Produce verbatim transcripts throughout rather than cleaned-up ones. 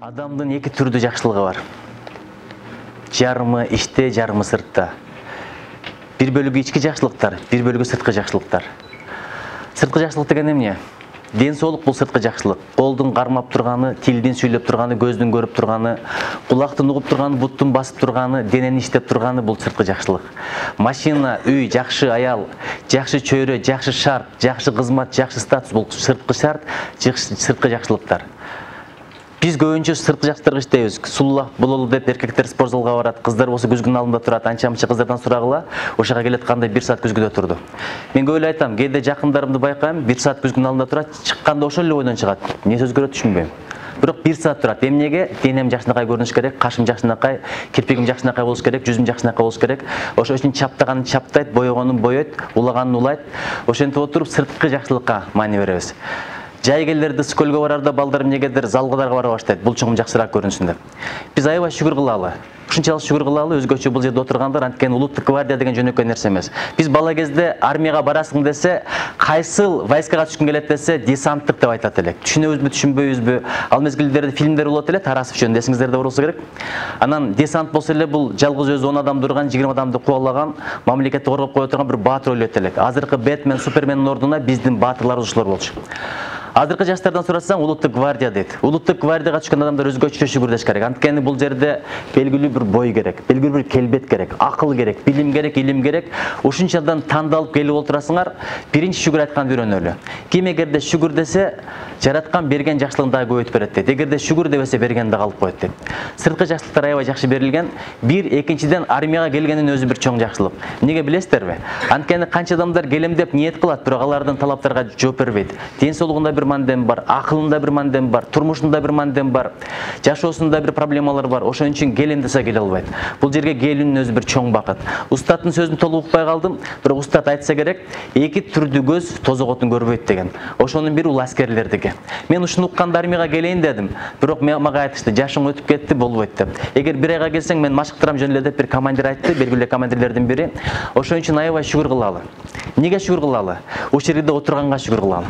Адамдын эки түрдүү жакшылыгы бар. Жарымы иште, жарымы сыртта. Бир бөлүгү ички жакшылыктар, бир бөлүгү сырткы жакшылыктар. Сырткы жакшылык деген эмне? Ден соолук бул сырткы жакшылык. Колдун кармап турганы, тилдин сүйлөп турганы, көздүн көрүп турганы, кулактын угуп турганы, буттун басып турганы, денени иштеп турганы бул сырткы жакшылык. Машина, үй, жакшы аял, жакшы чөйрө, жакшы шарт, жакшы кызмат, жакшы статус бул сырткы шарт, сырткы жакшылыктар. Биз көбүнчө сырткы жакшылыктарга иштейбиз. Сулуулак бололу деп эркектер спортзалга барат, кыздар болсо күзгүнүн алдында турат, анча-мынча кыздардан сурагыла, ошого келатканда бир саат күзгүдө турду. Мен көп эле айтам, кээде жакындарымды байкайм, бир саат күзгүнүн алдында турат, чыкканда ошол эле бойдон чыгат. Эмне өзгөрөт түшүнбөйм. Бирок бир саат турат. Эмнеге? Денем жакшынакай көрүнүш керек, кашым жакшынакай, кирпигим жакшынакай болуш керек, жүзүм жакшынакай болуш керек. Ошол үчүн чаптаганын чаптайт, боёгонун боёйт, улаганын улайт. Ошентип отуруп сырткы жакшылыкка маани беребиз. Жайгелерди скөлгө барарда балдар эмнегедир залгыларга бара баштайт. Бул чоң жакшыраак көрүнсүн деп. Биз аябай шүгүр кылалы. Ушунчалык шүгүр кылалы, өзгөчө бул жерде отургандар, анткени улуттук гвардия деген жөнөкөй нерсе эмес. Биз бала кезде армияга барасың десе, кайсыл войскага түшкүң келет десе, десанттык деп айтат элек. Түшүнөбүзбү, түшүнбөйбүзбү? Ал мезгилдерде фильмдер болот эле, Тарасов жөнүндө эсиңиздерде болсо керек. Анан десант болсо эле бул жалгыз өзү он адам турган, жыйырма адамды кубалаган, мамлекетти коргоп кое турган бир баатыр ойлойт элек. Азыркы Бэтмен, Супермендин ордуна биздин баатырлар ушулар болчу. Азыркы жаштардан сурасаң, улуттук гвардия дейт. Улуттук гвардияга түшкөн адамдар өзгөчө шүгүрдөш керек. Анткени бул жерде белгилүү бир бой керек, белгилүү бир келбет керек, акыл керек, билим керек, илим керек. Ушунчадан тандалып келип отурасыңар, биринчи шүгүр айтканды үйрөнөлү. Ким эгерде шүгүр десе, жараткан берген жакшылыгын дагы көбөйтүп берет дейт. Эгерде шүгүр дебесе, бергенди калып коет дейт. Сырткы жакшылыктар аябай жакшы берилген. Бир, экинчиден армияга келгендин өзү бир чоң жакшылык. Эмнеге билесиздерби? Анткени канча адамдар келем деп ниет кылат, бирок алардын талаптарга жооп бербейт. Ден соолугунда бир мандем бар, акылында бир мандем бар, турмушунда бир мандем бар, жашоосунда бир проблемалар бар. Ошон үчүн келем десе келе албайт. Бул жерге келүүнүн өзү бир чоң бакыт. Устаттын сөзүн толук укпай калдым, бирок устат айтса керек, эки түрдүү көз тозоготун көрбөйт деген. Ошонун бири ул аскерлердики. Мен ушуну укканда армияга келейин дедим, бирок мага айтышты, жашың өтүп кетти, болбойт деп. Эгер бир айга келсең, мен машыктырам жөн эле деп бир командир айтты, белгилүү командирлердин бири. Ошон үчүн аябай шүгүр кылалы. Эмнеге шүгүр кылалы? Ушул жерде отурганга шүгүр кылалы.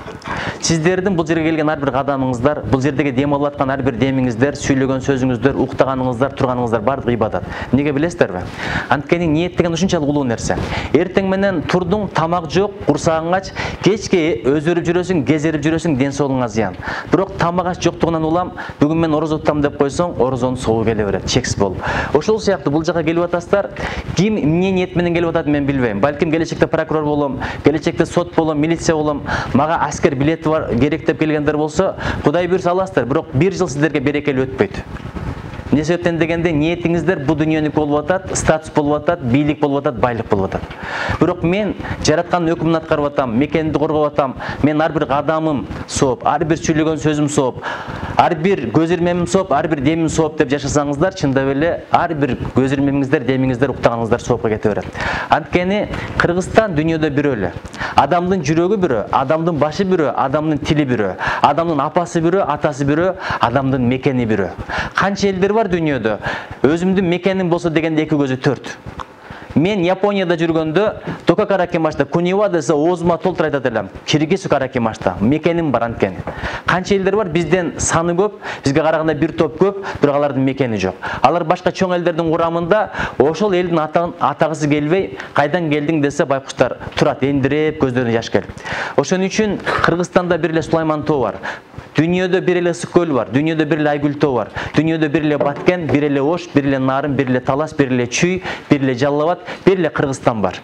Сиздердин бул жерге келген ар бир кадамыңыздар, бул жердеги дем алып аткан ар бир демиңиздер, сүйлөгөн сөзүңүздөр, уктаганыңыздар, турганыңыздар баардыгы ибадат. Эмнеге билесиздерби? Анткени ниет деген ушунчалык улуу нерсе. Эртең менен турдуң, тамак жок, курсагың ач, кечке өзөрүп жүрөсүң, кезерип жүрөсүң, ден соолугуңа зыян. Бирок тамак аш жоктугунан улам, бүгүн мен орозо тутам деп койсоң, орозонун соогу келе берет, чексиз болуп. Ошол сыяктуу бул жака келип атасыздар, ким эмне ниет менен келип атат мен билбейм. Балким келечекте прокурор болом, келечекте сот болом, милиция болом, мага аскер билети бар керек деп келгендер болсо, Кудай буйрса аласыздар, бирок бир жыл сиздерге берекелүү өтпөйт. Эмне себептен дегенде, ниетиңиздер бул дүйнөнүкү болуп атат, статус болуп атат, бийлик болуп атат, байлык болуп атат. Бирок мен жараткандын өкүмүн аткарып атам, мекенди коргоп атам. Мен ар бир кадамым сооп, ар бир сүйлөгөн сөзүм сооп, ар бир көз ирмемим сооп, ар бир демим сооп деп жашасаңыздар, чындап эле ар бир көз ирмемиңиздер, демиңиздер, уктаганыңыздар соопко кете берет. Анткени Кыргызстан дүйнөдө бирөө эле. Адамдын жүрөгү бирөө, адамдын башы бирөө, адамдын тили бирөө, адамдын апасы бирөө, атасы бирөө, адамдын мекени бирөө. Канча элдер бар дүйнөдө? Өзүмдүн мекеним болсо дегенде эки көзү төрт. Мен Японияда жүргөндө Тока Каракимашта Кунива десе оозума толтура айтат элем. Киргизу Каракимашта мекеним бар анткени. Канча элдер бар, бизден саны көп, бизге караганда бир топ көп, бирок алардын мекени жок. Алар башка чоң элдердин курамында, ошол элдин атагысы келбей, кайдан келдиң десе байкуштар турат, эндиреп көздөрүнө жаш келип. Ошон үчүн Кыргызстанда бир эле Сулайман тоо бар. Дүйнөдө бир эле Ысык көл бар, дүйнөдө бир эле Айгүл тоо бар, дүйнөдө бир эле Баткен, бир эле Ош, бир эле Нарын, бир эле Талас, бир эле Чүй, бир эле Жалал Абад, бир эле Кыргызстан бар.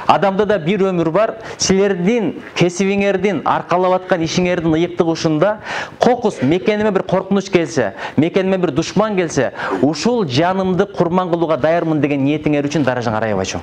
Адамда да бир өмүр бар. Силердин кесибиңердин, аркалап аткан ишиңердин ыйыктыгы ушунда. Кокус мекениме бир коркунуч келсе, мекениме бир душман келсе, ушул жанымды курман кылууга даярмын деген ниетиңер үчүн даражаң аябай чоң.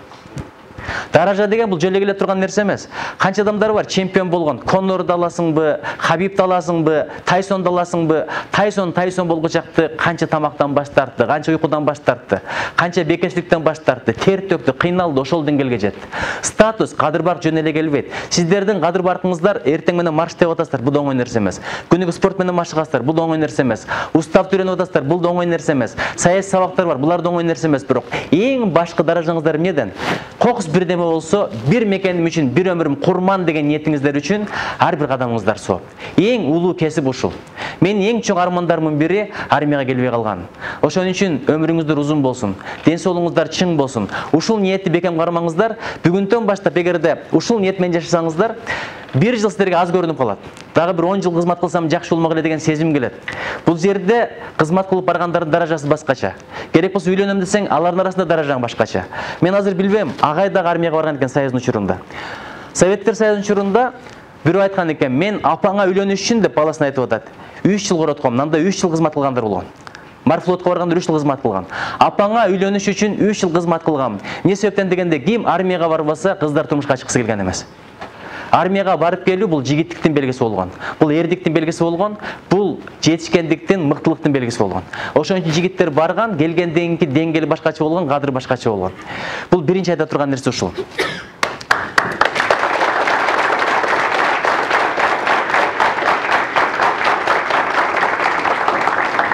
Даража деген бул жөлө келе турган нерсе эмес. Канча адамдар бар чемпион болгон. Конорду аласыңбы, Хабибди аласыңбы, Тайсонду аласыңбы? Тайсон Тайсон болгучакты канча тамактан баш тартты, канча уйкудан баш тартты, канча бекерчиликтен баш тартты, тер төктү, кыйналды, ошол деңгээлге жетти. Статус кадыр барк жөн эле келбейт. Сиздердин кадыр баркыңыздар эртең менен марш деп атасыздар, бул да оңой нерсе эмес. Күнүгө спорт менен машыгасыздар, бул да оңой нерсе эмес. Устав үйрөнүп атасыздар, бул да оңой нерсе эмес. Саясий сабактар бар, булар да оңой нерсе эмес, бирок эң башкы даражаңыздар эмнеден? Кокус бирдеме болсо, бир мекеним үчүн, бир өмүрүм курман деген ниетиңиздер үчүн ар бир кадамыңыздар соо. Эң улуу кесип ушул. Менин эң чоң армандарымдын бири армияга келбей калган. Ошон үчүн өмүрүңүздөр узун болсун, ден соолугуңуздар чың болсун. Ушул ниетти бекем кармаңыздар. Бүгүндөн баштап эгерде ушул ниет менен жашасаңыздар, бир жыл силерге аз көрүнүп калат. Дагы бир он жыл кызмат кылсам жакшы болмок эле деген сезим келет. Бул жерде кызмат кылып баргандардын даражасы башкача. Керек болсо үйлөнөм десең, алардын арасында даражаң башкача. Мен азыр билбейм, агай дагы армияга барган экен Союздун учурунда. Советтер Союзунун учурунда бирөө айткан экен, мен апаңа үйлөнүш үчүн деп баласына айтып атат. үч жыл коротком, мында үч жыл кызмат кылгандар болгон. Морфлотко барганда үч жыл кызмат кылган. Апаңа үйлөнүш үчүн үч жыл кызмат кылгам. Эмне себептен дегенде, ким армияга барбаса, кыздар турмушка чыккысы келген эмес. Армияга барып келүү бул жигиттиктин белгиси болгон. Бул эрдиктин белгиси болгон. Бул жетишкендиктин, мыктылыктын белгиси болгон. Ошон үчүн жигиттер барган, келгенден кийин деңгээли башкача болгон, кадыры башкача болгон. Бул биринчи айта турган нерсе ушул.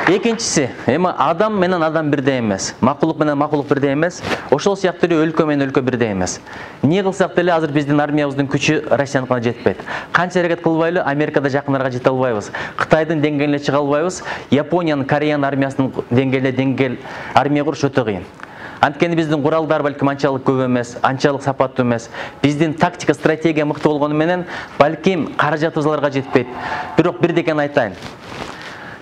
Экинчиси, эми адам менен адам бирдей эмес, макулук менен макулук бирдей эмес, ошол сыяктуу эле өлкө менен өлкө бирдей эмес. Эмне кылсак деле азыр биздин армиябыздын күчү Россияныкына жетпейт. Канча аракет кылбайлы, Америкада жакындарга жете албайбыз. Кытайдын деңгээлине чыга албайбыз. Япониянын, Кореянын армиясынын деңгээлине деңгээл армия куруш өтө кыйын. Анткени биздин куралдар балким анчалык көп эмес, анчалык сапаттуу эмес. Биздин тактика, стратегия мыкты болгону менен балким каражатыбыз аларга жетпейт. Бирок бир деген айтайын.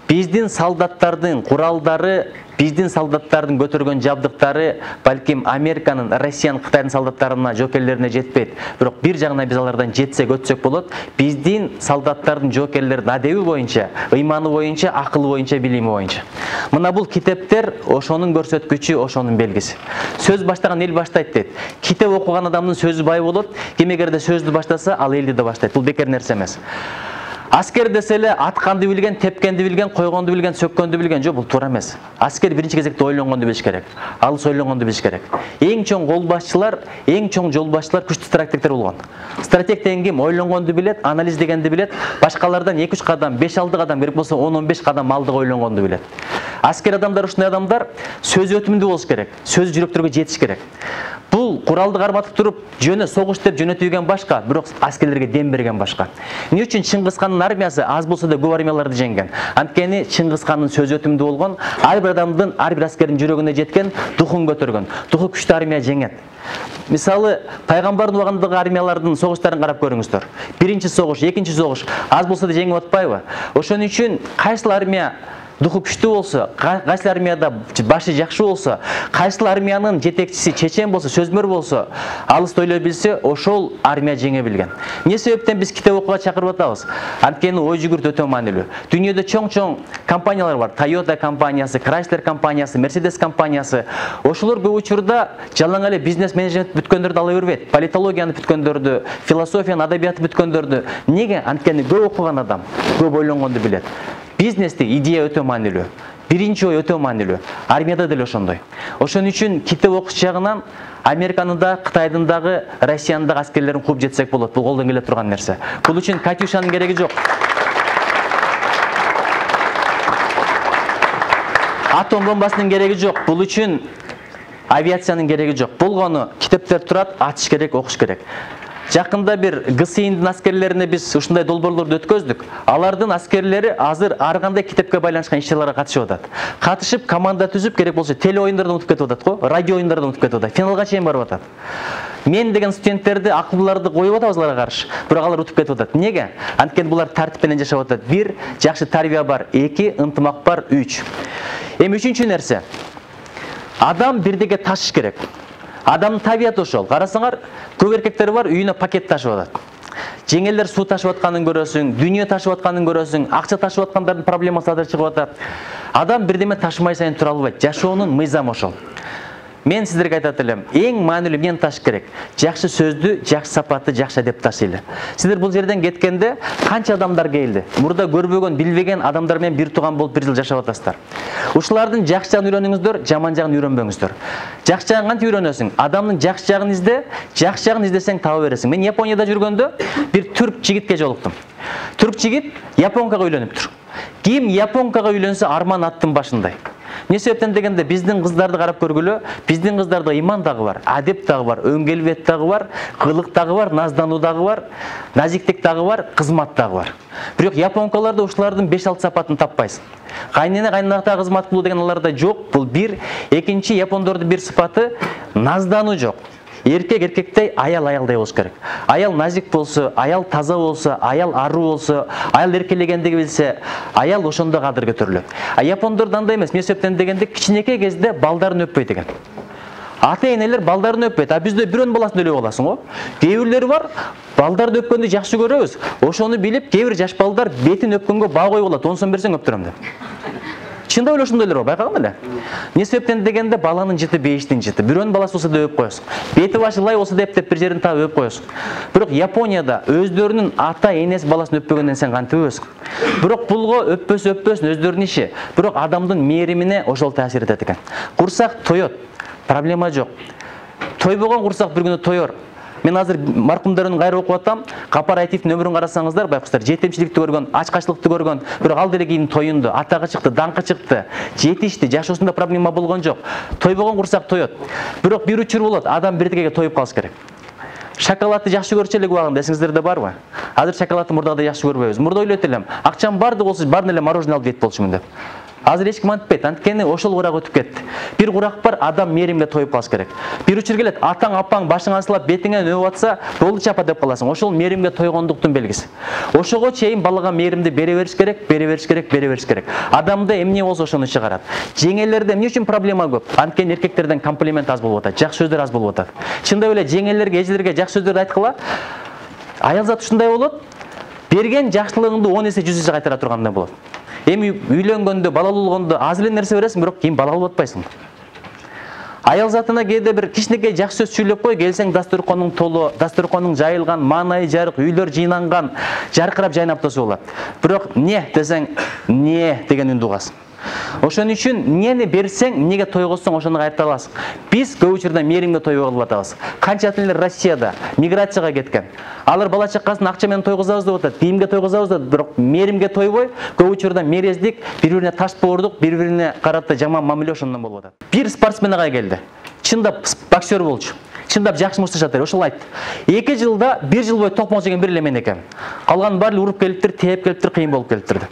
Биздин солдаттардын куралдары, биздин солдаттардын көтөргөн жабдыктары балким Американын, Россиянын, Кытайдын солдаттарына, жоокерлерине жетпейт. Бирок бир жагынан биз алардан жетсек, өтсөк болот. Биздин солдаттардын, жоокерлердин адеби боюнча, ыйманы боюнча, акылы боюнча, билими боюнча. Мына бул китептер ошонун көрсөткүчү, ошонун белгиси. Сөз баштаган эл баштайт дейт. Китеп окуган адамдын сөзү бай болот. Ким эгерде сөздү баштаса, ал элди да баштайт. Бул бекер нерсе эмес. Аскер десе эле атканды билген, тепкенди билген, койгонду билген, сөккөндү билген. Жок, бул туура эмес. Аскер биринчи кезекте ойлонгонду билиш керек. Алыс ойлонгонду билиш керек. Эң чоң кол башчылар, эң чоң жол башчылар күчтүү стратегтер болгон. Стратег деген ким? Ойлонгонду билет, анализдегенди билет, башкалардан эки үч кадам, беш алты кадам, керек болсо он он беш кадам алдыга ойлонгонду билет. Аскер адамдар ушундай адамдар сөзү өтүмдүү болуш керек, сөзү жүрөктөргө жетиш керек. Бул куралды карматып туруп, жөнө согуш деп жөнөтүүгөн башка, бирок аскерлерге дем берген башка. Эмне үчүн Чыңгыз хандын армиясы аз болсо да көп армияларды жеңген? Анткени Чыңгыз хандын сөзү өтүмдүү болгон, ар бир адамдын, ар бир аскердин жүрөгүнө жеткен, духун көтөргөн. Духу күчтүү армия жеңет. Мисалы, пайгамбардын убагындагы армиялардын согуштарын карап көрүңүздөр. Биринчи согуш, экинчи согуш аз болсо да жеңип атпайбы? Ошон үчүн кайсыл армия духу күчтүү болсо, кайсыл армияда башы жакшы болсо, кайсыл армиянын жетекчиси чечен болсо, сөзмөр болсо, алыс ойлой билсе, ошол армия жеңе билген. Эмне себептен биз китеп окууга чакырып атабыз? Анткени ой жүгүрт өтө маанилүү. Дүйнөдө чоң-чоң компаниялар бар. Toyota компаниясы, Chrysler компаниясы, Mercedes компаниясы. Ошолор көп учурда жалаң эле бизнес менеджмент бүткөндөрдү ала бербейт. Политологияны бүткөндөрдү, философияны, адабиятты бүткөндөрдү. Неге? Анткени көп окуган адам, көп ойлонгонду билет. Бизнесте идея өтө маанилүү. Биринчи ой өтө маанилүү. Армияда деле ошондой. Ошон үчүн китеп окуш жагынан Американын да, Кытайдын дагы, Россиянын дагы аскерлерин кууп жетсек болот. Бул колдон келе турган нерсе. Бул үчүн Катюшанын кереги жок. Атом бомбасынын кереги жок. Бул үчүн авиациянын кереги жок. Болгону китептер турат, ачыш керек, окуш керек. Жакында бир ГСИНдин аскерлерине биз ушундай долбоорлорду өткөздүк. Алардын аскерлери азыр ар кандай китепке байланышкан иш-чараларга катышып атат. Катышып, команда түзүп, керек болсо теле оюндардан утуп кетип атат го, радио оюндардан утуп кетип атат. Финалга чейин барып атат. Мен деген студенттерди, акылдууларды коюп атабыз аларга каршы, бирок алар утуп кетип атат. Эмнеге? Анткени булар тартип менен жашап атат. Бир, жакшы тарбия бар. Эки, ынтымак бар. Үч. Эми үчүнчү нерсе. Адам бирдеге ташыш керек. Адамдын табияты ошол. Карасаңар, көп эркектер бар, үйүнө пакет ташып атат. Жеңелдер суу ташып атканын көрөсүң, дүйнө ташып атканын көрөсүң, акча ташып аткандардын проблемасы азыр чыгып атат. Адам бирдеме ташымай сайын тура албайт. Жашоонун мыйзамы ошол. Мен сиздерге айтат элем, эң маанилүү эмнени ташыш керек? Жакшы сөздү, жакшы сапатты, жакшы адеп ташыйлы. Сиздер бул жерден кеткенде канча адамдар келди? Мурда көрбөгөн, билбеген адамдар менен бир тууган болуп бир жыл жашап атасыздар. Ушулардын жакшы жагын үйрөнүңүздөр, жаман жагын үйрөнбөңүздөр. Жакшы жагын кантип үйрөнөсүң? Адамдын жакшы жагын изде, жакшы жагын издесең таба бересиң. Мен Японияда жүргөндө бир түрк жигитке жолуктум. Түрк жигит японкага үйлөнүптүр. Ким японкага үйлөнсө арман аттын башындай. Эмне себептен дегенде биздин кыздарды карап көргүлө, биздин кыздарда иман дагы бар, адеп дагы бар, өңкелбет дагы бар, кылык дагы бар, наздануу дагы бар, назиктик дагы бар, кызмат дагы бар. Бирок японкаларда ушулардын беш алты сапатын таппайсың. Кайнене кайнанакта кызмат кылуу деген аларда жок. Бул бир. Экинчи, япондордун бир сыпаты наздануу жок. Эркек эркектей, аял аялдай болуш керек. Аял назик болсо, аял таза болсо, аял аруу болсо, аял эркелегендиги билсе, аял ошондо кадыр көтөрүлөт. А япондордо андай эмес. Эмне себептен дегенде кичинекей кезде балдарын өппөйт экен. Ата-энелер балдарын өппөйт. А бизде бирөөнүн баласын өлөп аласың го. Кээ бирлери бар, балдарды өпкөндү жакшы көрөбүз. Ошону билип, кээ бир жаш балдар бетин өпкөнгө баа коюп алат. он сом берсең өптүрөм деп. Чында эле ошондойлор бар, байкаган эле. Эмне себептен дегенде баланын жыты бейиштин жыты. Бирөөнүн баласы болсо да өп коесуң. Бети башы лай болсо деп деп бир жерин таап өп коесуң. Бирок Японияда өздөрүнүн ата-энеси баласын өппөгөндөн сен кантип өпөсүң? Бирок булго өппөсө өппөсүн өздөрүнүн иши. Бирок адамдын мээримине ошол таасир этет экен. Курсак тоет. Проблема жок. Тойбогон курсак бир күнү тоер. Мен азыр маркумдарын кайра окуп атам. Капар Айтиевдин өмүрүн карасаңыздар, байкуштар, жетимчиликти көргөн, ачкачтыкты көргөн, бирок ал деле кийин тоюнду, атага чыкты, даңкы чыкты, жетишти, жашоосунда проблема болгон жок. Тойбогон курсак тоет. Бирок бир учур болот, адам бирдегеге тоюп калыш керек. Шоколадты жакшы көрчү элек убагында, эсиңиздерде барбы? Азыр шоколадты мурдагыдай жакшы көрбөйбүз. Мурда ойлойт элем, акчам барды болсо бардын эле мороженое алып жейт болчумун деп. Азыр эч ким антпайт, анткени ошол курак өтүп кетти. Бир курак бар, адам мээримге тоюп калыш керек. Бир учур келет, атаң, апаң башыңа сылап, бетиңен өп атса, болду чапа деп каласың. Ошол мээримге тойгондуктун белгиси. Ошого чейин балага мээримди бере бериш керек, бере бериш керек, бере бериш керек. Адамда эмне болсо ошону чыгарат. Жеңелерде эмне үчүн проблема көп? Анткени эркектерден комплимент аз болуп атат, жакшы сөздөр аз болуп атат. Чындап эле жеңелерге, эжелерге жакшы сөздөрдү айткыла, аял зат ушундай болот, берген жакшылыгыңды он эсе, жүз эсе кайтара тургандай болот. Эми үйлөнгөндө, балалуу болгондо аз эле нерсе бересиң, бирок кийин балалуу болуп атпайсың. Аял затына кээде бир кичинекей жакшы сөз сүйлөп кой, келсең дастурконуң толу, дастурконуң жайылган, маанайы жарык, үйлөр жыйнанган, жаркырап жайнап турса болот. Бирок эмне десең, эмне деген үндү угасың. Ошон үчүн эмнени берсең, эмнеге тойгозсоң ошону кайрата аласың. Биз көп учурда мээримге тойбой калып атабыз. Канча ата-энелер Россияда миграцияга кеткен. Алар бала чакасын акча менен тойгозабыз деп атат, кийимге тойгозабыз деп, бирок мээримге тойбой, көп учурда мерездик, бири-бирине таш боордук, бири-бирине карата жаман мамиле ошондон болуп атат. Бир спортсмен ага келди. Чындап боксер болчу. Чындап жакшы мушташат, ошол айтты. эки жылда бир жыл бою токмок жеген бир эле мен экенмин. Калган баары уруп келиптир, тээп келиптир, кыйын болуп келиптир деп.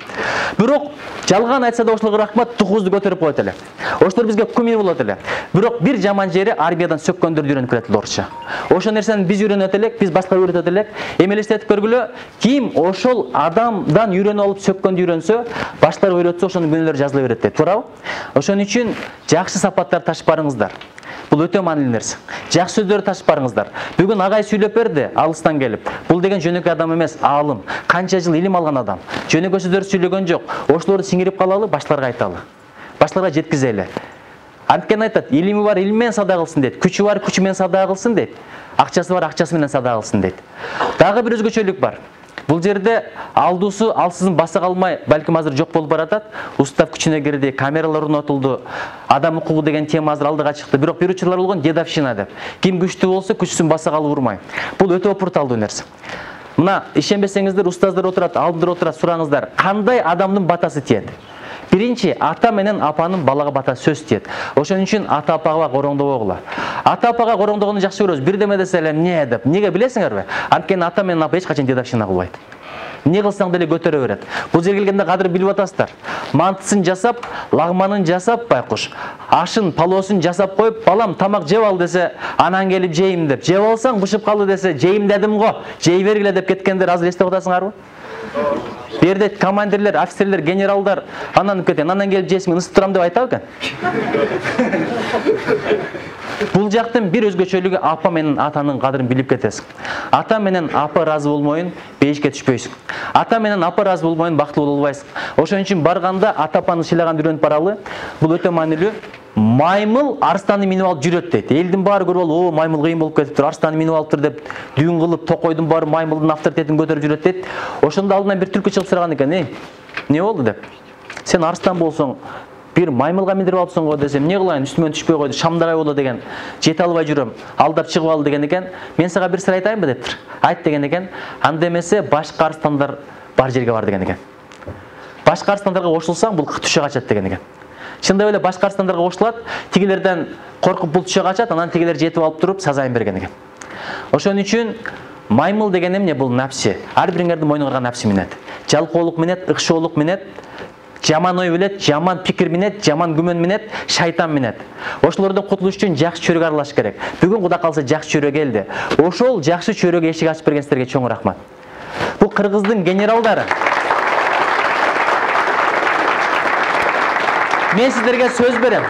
Бирок жалган айтса да ошолорго рахмат, тукузду көтөрүп коет эле. Ошолор бизге кумир болот эле. Бирок бир жаман жери армиядан сөккөндөрдү үйрөнүп келет орусча. Ошол нерсени биз үйрөнөт элек, биз башкалар үйрөтөт элек. Эми элестетип көргүлө, ким ошол адамдан үйрөнүп алып сөккөндү үйрөнсө, башкалар үйрөтсө ошонун күнөөлөрү жазыла берет дейт, туурабы? Ошон үчүн жакшы сапаттар ташып барыңыздар. Бул өтө маанилүү нерсе. Жакшы сөздөрдү ташып барыңыздар. Бүгүн агай сүйлөп берди, алыстан келип. Бул деген жөнөкөй адам эмес, аалым. Канча жыл илим алган адам. Жөнөкөй сөздөрдү сүйлөгөн жок. Ошолорду сиңирип калалы, башкаларга айталы. Башкаларга жеткизели. Анткени айтат, илими бар илим менен сада кылсын дейт. Күчү бар күчү менен сада кылсын дейт. Акчасы бар акчасы менен сада кылсын дейт. Дагы бир өзгөчөлүк бар. Бул жерде алдуусу алсызын баса калмай, балким азыр жок болуп баратат. Устав күчүнө кирди, камералар орнотулду. Адам укугу деген тема азыр алдыга чыкты. Бирок бир учурлар болгон дедовщина деп. Ким күчтүү болсо күчүсүн баса калып урмай. Бул өтө опурталдуу нерсе. Мына ишенбесеңиздер, устаздар отурат, алдыда отурат, сураңыздар, кандай адамдын батасы тиет? Биринчи, ата менен апанын балага бата сөз тиет. Ошон үчүн ата апага короңдобогула. Ата апага короңдогону жакшы көрөбүз. Бирдеме десе эле эмне деп. Неге билесиңерби? Анткени ата менен апа эч качан дедовщина кылбайт. Эмне кылсаң деле көтөрө берет. Бул жерге келгенде кадыр билип атасыздар. Мантысын жасап, лагманын жасап, байкуш, ашын, палоосун жасап коюп, балам тамак жеп ал десе, анан келип жейм деп. Жеп алсаң бышып калды десе, жейм дедим го, жей бергиле деп кеткендер азыр эстеп атасыңарбы? Берде командирлер, офицерлер, генералдар анан кетен, анан келип жейсиң, ысып турам деп айтабы экен? Бул жактын бир өзгөчөлүгү апа менен атанын кадырын билип кетесиң. Ата менен апа ыраазы болмойун, бейишке түшпөйсүң. Ата менен апа ыраазы болмойун, бактылуу боло албайсың. Ошон үчүн барганда ата апаны сыйлаганды үйрөнүп баралы. Бул өтө маанилүү. Маймыл арстанды минип алып жүрөт дейт. Элдин баары көрүп алып, "О, маймыл кыйын болуп кетиптир, арстанды минип алыптыр" деп дүүн кылып, токойдун баары маймылдын авторитетин көтөрүп жүрөт дейт. Ошондо алдынан бир түлкү чыгып сураган экен: "Эй, эмне болду?" деп. "Сен арстан болсоң, бир маймылга миндирип алыпсың го" десем, "Эмне кылайын, үстүмөн түшпөй койду, шамдагай болду" деген. "Жете албай жүрөм, алдап чыгып ал" деген экен. "Мен сага бир сыр айтайынбы" дептир. "Айт" деген экен. "Анда эмесе башка арстандар бар жерге бар" деген экен. Башка арстандарга кошулсаң, бул түшө качат деген экен. Чындап эле башка арстандарга кошулат, тигилерден коркуп булча качат, анан тигилер жетип алып туруп сазайын берген экен. Ошон үчүн маймыл деген эмне? Бул напси. Ар бириңердин мойнуңарга напси минет. Жалкоолук минет, ыкшоолук минет, жаман ой билет, жаман пикир минет, жаман күмөн минет, шайтан минет. Ошолордон кутулуш үчүн жакшы чөрөгө аралаш керек. Бүгүн Кудай калса жакшы чөрө келди. Ошол жакшы чөрөгө эшик ачып берген силерге чоң рахмат. Бул кыргыздын генералдары. Мен силерге сөз берем.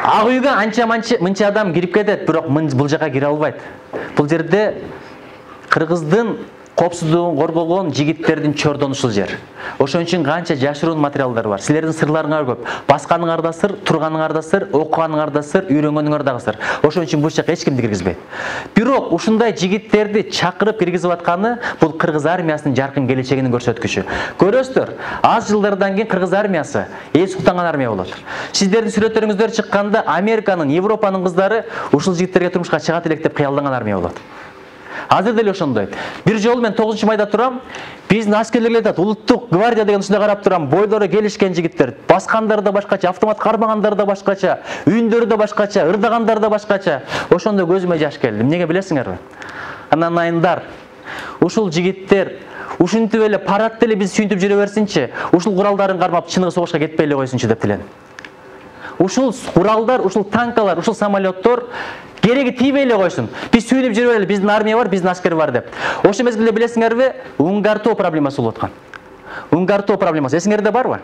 Ак үйгө анча мынча адам кирип кетет, бирок бул жака кире албайт. Бул жерде кыргыздын коопсуздугун коргогон жигиттердин чордону ушул жер. Ошон үчүн канча жашыруун материалдар бар. Силердин сырларыңар көп. Басканыңар да сыр, турганыңар да сыр, окуганыңар да сыр, үйрөнгөнүңөр да сыр. Ошон үчүн бул жака эч кимди киргизбейт. Бирок ушундай жигиттерди чакырып киргизип атканы бул кыргыз армиясынын жаркын келечегинин көрсөткүчү. Көрөсүздөр, аз жылдардан кийин кыргыз армиясы эл суктанган армия болот. Сиздердин сүрөттөрүңүздөр чыкканда Американын, Европанын кыздары ушул жигиттерге турмушка чыгат элек деп кыялданган армия болот. Азыр деле ошондой. Бир жолу мен тогузунчу майда турам, биздин аскерлер айтат, улуттук гвардия деген ушундай карап турам, бойлору келишкен жигиттер, баскандар да башкача, автомат кармагандар да башкача, үйүндөрү да башкача, ырдагандар да башкача. Ошондо көзүмө жаш келди. Эмнеге билесиңерби? Анан айындар, ушул жигиттер ушинтип эле парад деле биз сүйүнтүп жүрө берсинчи, ушул куралдарын кармап чыныгы согушка кетпей эле койсунчу деп тилем. Ушул куралдар, ушул танкалар, ушул самолеттор кереги тийбей эле койсун. Биз сүйүнүп жүрө берели, биздин армия бар, биздин аскер бар деп. Ошол мезгилде билесиңерби, уңгартуу проблемасы болуп аткан. Уңгартуу проблемасы эсиңерде барбы?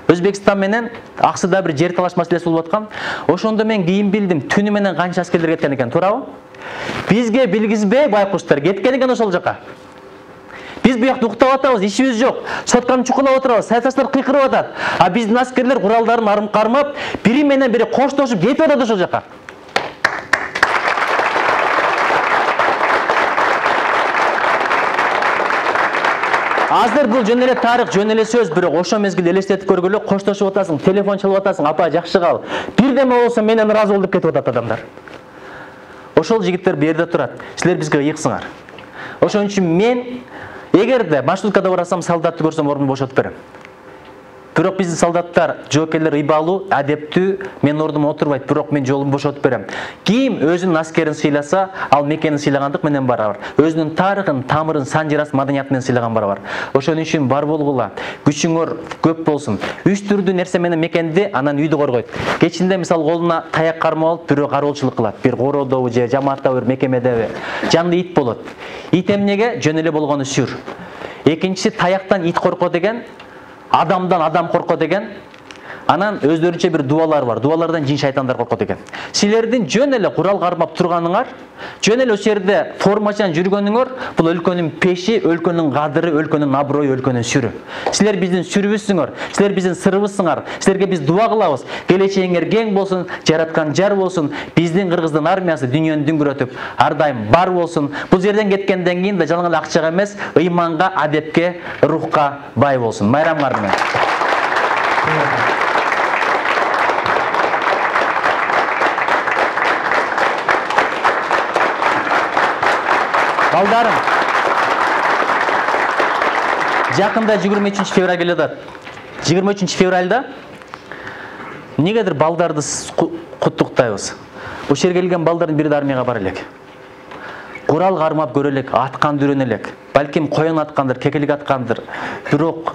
Өзбекстан менен Аксыда бир жер талаш маселеси болуп аткан. Ошондо мен кийин билдим, түнү менен канча аскерлер кеткен экен, туурабы? Бизге билгизбей байкуштар кеткен экен ошол жака. Биз буякта уктап атабыз, ишибиз жок. Сотканы чукулап отурабыз, саясатчылар кыйкырып атат. А биздин аскерлер куралдарын арым кармап, бири менен бири коштошуп кетип атат ошол жака. Азыр бул жөн эле тарых, жөн эле сөз, бирок ошол мезгилде элестетип көргүлө, коштошуп атасың, телефон чалып атасың, апа жакшы кал. Бирдеме болсо менен ыраазы бол деп кетип атат адамдар. Ошол жигиттер бу жерде турат. Силер бизге ыйыксыңар. Ошон үчүн мен эгерде маршруткада барасам, солдатты көрсөм ордумду бошотуп берем. Бирок биздин солдаттар, жоокерлер ыйбалуу, адептүү, мен ордума отурбайт, бирок мен жолумду бошотуп берем. Ким өзүнүн аскерин сыйласа, ал мекенин сыйлагандык менен барабар. Өзүнүн тарыхын, тамырын, сан жырасын, маданиятын менен сыйлаган барабар. Ошон үчүн бар болгула, күчүңөр көп болсун. Үч түрдүү нерсе менен мекенди, анан үйдү коргойт. Кечинде мисалы колуна таяк кармап алып, бирөө кароолчулук кылат. Бир короодобу же жамааттабы, бир мекемедеби. Жанды ит болот. Ит эмнеге? Жөн эле болгону сүр. Экинчиси таяктан ит корко деген, адамдан адам корко деген. Анан өздөрүнчө бир дуалар бар. Дуалардан жин шайтандар коркот экен. Силердин жөн эле курал кармап турганыңар, жөн эле ошол жерде формачан жүргөнүңөр, бул өлкөнүн пеши, өлкөнүн кадыры, өлкөнүн аброю, өлкөнүн сүрү. Силер биздин сүрүбүзсүңөр, силер биздин сырыбызсыңар. Силерге биз дуа кылабыз. Келечегиңер кең болсун, жараткан жар болсун. Биздин кыргыздын армиясы дүйнөнү дүңгүрөтүп, ар дайым бар болсун. Бул жерден кеткенден кийин да жалаң эле акчага эмес, ыйманга, адепке, рухка бай болсун. Майрамыңар менен. Балдарым, жакында жыйырма үчүнчү февраль келе атат. жыйырма үчүнчү февралда эмнегедир балдарды куттуктайбыз. Бул жерге келген балдардын бири да армияга бара элек. Курал кармап көрө элек, атканды үйрөнө элек. Балким коен аткандыр, кекелик аткандыр. Бирок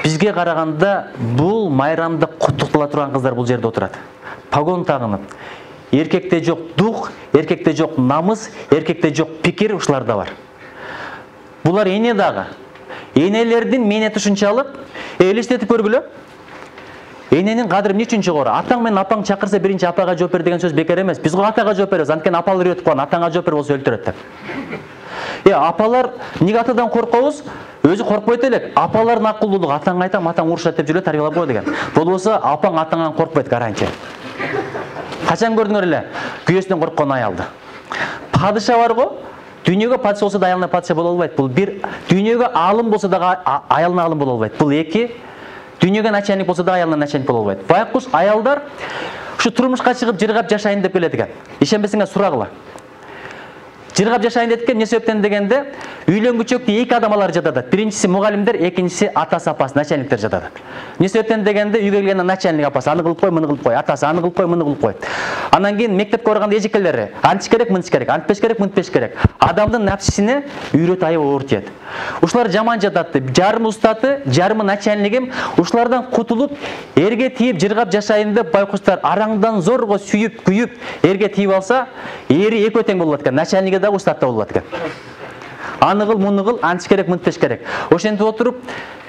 бизге караганда бул майрамда куттуктала турган кыздар бул жерде отурат. Погон тагынып. Эркекте жок дух, эркекте жок намыс, эркекте жок пикир ушуларда бар. Булар эне дагы. Энелердин менети ушунчалык, элестетип көргүлө. Эненин кадыры эмне үчүн жогору? Атаң менен апаң чакырса биринчи апага жооп бер деген сөз бекер эмес. Биз го атага жооп беребиз, анткени апалар үйрөтүп койгон, атаңа жооп бер болсо өлтүрөт деп. Э, апалар эмнеге атадан коркобуз? Өзү коркпойт элек. Апалардын акылдуулугу атаңа айтам, атаң урушат деп жүрө тарбиялап кой деген. Болбосо апаң атаңан коркпойт гарантия. Качан көрдүңөр эле күйөөсүнөн корккон аялды? Падыша бар го, дүйнөгө падыша болсо да аялына падыша боло албайт. Бул бир, дүйнөгө аалым болсо да аялына аалым боло албайт. Бул эки, дүйнөгө начальник болсо да аялына начальник боло албайт. Байкуш аялдар ушу турмушка чыгып жыргап жашайын деп келет экен. Ишенбесеңер сурагыла. Жыргап жашайын деп экен, эмне себептен дегенде, үйлөнгүчөктө эки адам алар жатат. Биринчиси мугалимдер, экинчиси атасы, апасы, начальниктер жатат. Эмне себептен дегенде, үйгө келгенде начальник апасы аны кылып кой, муну кылып кой, атасы аны кылып кой, муну кылып кой. Анан кийин мектепке барганда эжекелери, антиш керек, мынтиш керек, антпеш керек, мынтпеш керек. Адамдын напсисине үйрөт аябай оор тиет. Ушулар жаман жатат. Жарымы устаты, жарымы начальнигим, ушулардан кутулуп, эрге тийип жыргап жашайын деп байкуштар араңдан зорго сүйүп, күйүп, эрге тийип алса, эри экөө тең болот экен. Начальниги да устат да болот экен. Аны кыл, муну кыл, антиш керек, мынтпеш керек. Ошентип отуруп,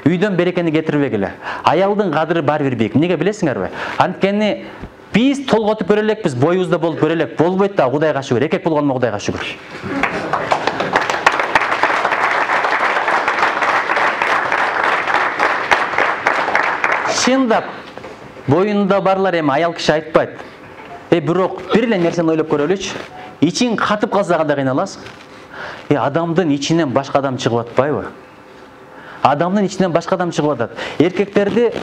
үйдөн берекени кетирбегиле. Аялдын кадыры бар бир бийик. Эмнеге билесиңерби? Анткени биз толготуп көрө элекпиз, боюбузда болуп көрө элек. Болбойт да, Кудайга шүгүр. Эркек болгоныма Кудайга шүгүр. Чындап, боюнда барлар эми аял киши айтпайт. Э, бирок бир эле нерсени ойлоп көрөлүчү. Ичин катып калса кандай кыйналасың? Э, адамдын ичинен башка адам чыгып атпайбы? Адамдын ичинен башка адам чыгып атат. Эркектерди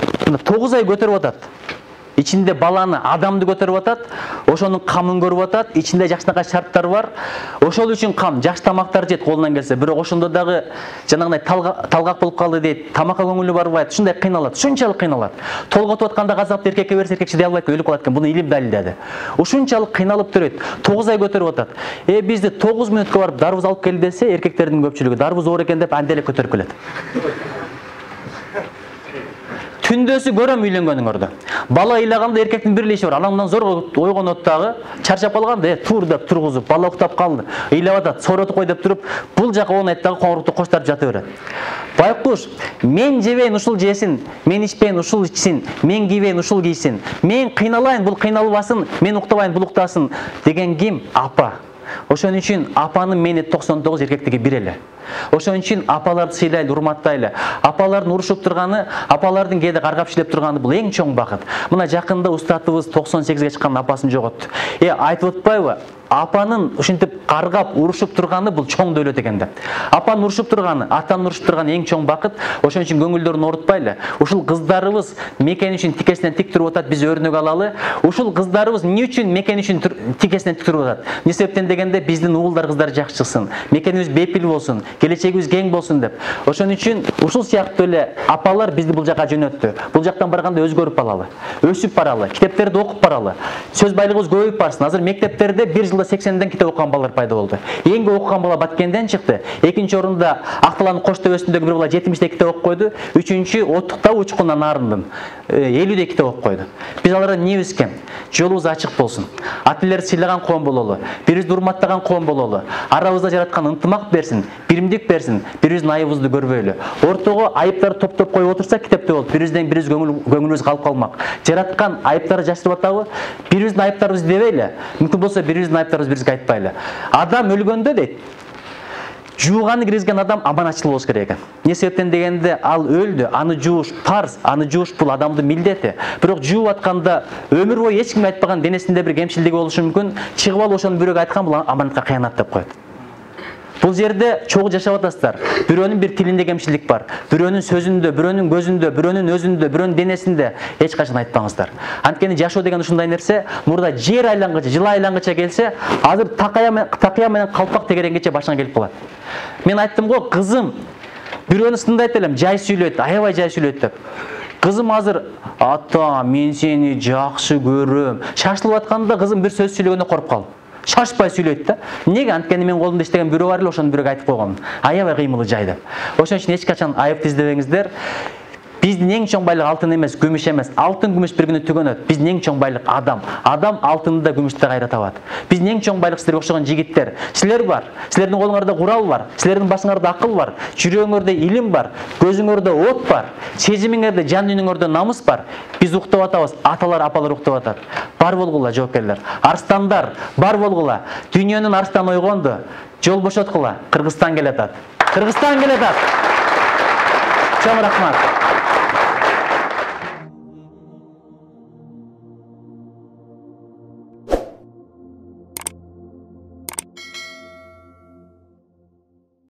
тогуз ай көтөрүп атат. Ичинде баланы, адамды көтөрүп атат, ошонун камын көрүп атат, ичинде жакшынакай шарттар бар. Ошол үчүн кам, жакшы тамактар жейт колунан келсе, бирок ошондо дагы жанагындай талгак болуп калды дейт, тамакка көңүлү барбайт, ушундай кыйналат, ушунчалык кыйналат. Толготуп атканда газапты эркекке берсе, эркек чыдай албайт, өлүп калат экен. Буну илим далилдеди. Ушунчалык кыйналып төрөйт. тогуз ай көтөрүп атат. Э, бизди тогуз мүнөткө барып дарбыз алып кел десе, эркектердин көпчүлүгү дарбыз оор экен деп анделе көтөрүп келет. Түндөсү көрөм үйлөнгөнүңөрдү. Бала ыйлаганда эркектин бир эле иши бар. Анан зорго ойгонот дагы, чарчап калганда, э, тур деп тургузуп, бала уктап калды. Ыйлап атат, сооротуп кой деп туруп, бул жака онайт дагы коңурукту коштартып жата берет. Байкуш, мен жебейин ушул жесин, мен ичпейин ушул ичсин, мен кийбейин ушул кийсин, мен кыйналайын, бул кыйналбасын, мен уктабайын, бул уктасын деген ким? Апа. Ошон үчүн апанын мени токсон тогуз, эркектиги бир эле. Ошон үчүн апаларды сыйлайлы, урматтайлы. Апалардын урушуп турганы, апалардын кээде каргап иштеп турганы бул эң чоң бакыт. Мына жакында устатыбыз токсон сегизге чыккан апасын жоготту. Э, айтып атпайбы? Апанын ушинтип каргап, урушуп турганы бул чоң дөөлөт экен деп. Апанын урушуп турганы, атанын урушуп турганы эң чоң бакыт. Ошон үчүн көңүлдөрүн оорутпайлы. Ушул кыздарыбыз мекен үчүн тикесинен тик туруп атат, биз өрнөк алалы. Ушул кыздарыбыз эмне үчүн мекен үчүн тикесинен тик туруп атат? Эмне себептен дегенде биздин уулдар, кыздар жакшы чыксын, мекенибиз бепил болсун, келечегибиз кең болсун деп. Ошон үчүн ушул сыяктуу эле апалар бизди бул жака жөнөттү. Бул жактан барганда өзгөрүп алалы, өсүп баралы, китептерди окуп баралы. Сөз байлыгыбыз көбөйүп барсын. Азыр мектептерде бир жылда сексенден китеп окуган балдар пайда болду. Эң көп окуган бала Баткенден чыкты. Экинчи орунда Акталанын Кош төбөсүндөгү бир бала жетимиштей китеп окуп койду. Үчүнчү Оттукта Учкундан Нарындын элүүдей китеп окуп койду. Биз алардан эмнебиз экен? Жолубуз ачык болсун. Ата элерди сыйлаган коом бололу, бирибизди урматтаган коом бололу. Арабызда жараткан ынтымак берсин, биримдик берсин, бирибиздин айыбыбызды көрбөйлү. Ортого айыптарды топтоп коюп отурсак китепте болот. Бирибизден бирибиз көңүлүбүз калып калмак. Жараткан айыптарды жашырып атабы? Бирибиздин айыптарыбызды дебейле. Мүмкүн болсо бирибиздин айыптарыбызды бирибизге айтпайлы. Адам өлгөндө дейт, жууганы киргизген адам аманатчыл болуш керек экен. Эмне себептен дегенде ал өлдү, аны жууш парз, аны жууш бул адамдын милдети. Бирок жууп атканда өмүр бою эч ким айтпаган денесинде бир кемчилдиги болушу мүмкүн. Чыгып алып ошону бирөөгө айткан бул аманатка кыянат деп коет. Бул жерде чогуу жашап атасыздар. Бирөөнүн бир тилинде кемчилдик бар, бирөөнүн сөзүндө, бирөөнүн көзүндө, бирөөнүн өзүндө, бирөөнүн денесинде эч качан айтпаңыздар. Анткени жашоо деген ушундай нерсе, мурда жер айлангыча, жыл айлангыча келсе, азыр такая менен калпак тегеренгече башыңа келип калат. Мен айттым го, кызым, бирөөнү сындайт элем, жай сүйлөйт, аябай жай сүйлөйт деп. Кызым азыр, ата, мен сени жакшы көрөм. Шашылып атканда кызым бир сөз сүйлөгөндө коруп калды. Шашпай сүйлөйт да. Эмнеге? Анткени мен колумда иштеген бирөө бар эле, ошону бирөөгө айтып койгом. Аябай кыймылы жай деп. Ошон үчүн эч качан айыпты издебеңиздер. Биздин эң чоң байлык алтын эмес, күмүш эмес. Алтын, күмүш бир күнү түгөнөт. Биздин эң чоң байлык адам. Адам алтынды да, күмүштү да кайра табат. Биздин эң чоң байлык силерге окшогон жигиттер. Силер бар. Силердин колуңарда курал бар. Силердин башыңарда акыл бар. Жүрөгүңөрдө илим бар. Көзүңөрдө от бар. Сезимиңерде, жан дүйнөңөрдө намыс бар. Биз уктап атабыз. Аталар, апалар уктап атат. Бар болгула, жоокерлер. Арстандар, бар болгула. Дүйнөнүн арстаны ойгонду. Жол бошоткула. Кыргызстан келатат. Кыргызстан келатат. Чоң рахмат.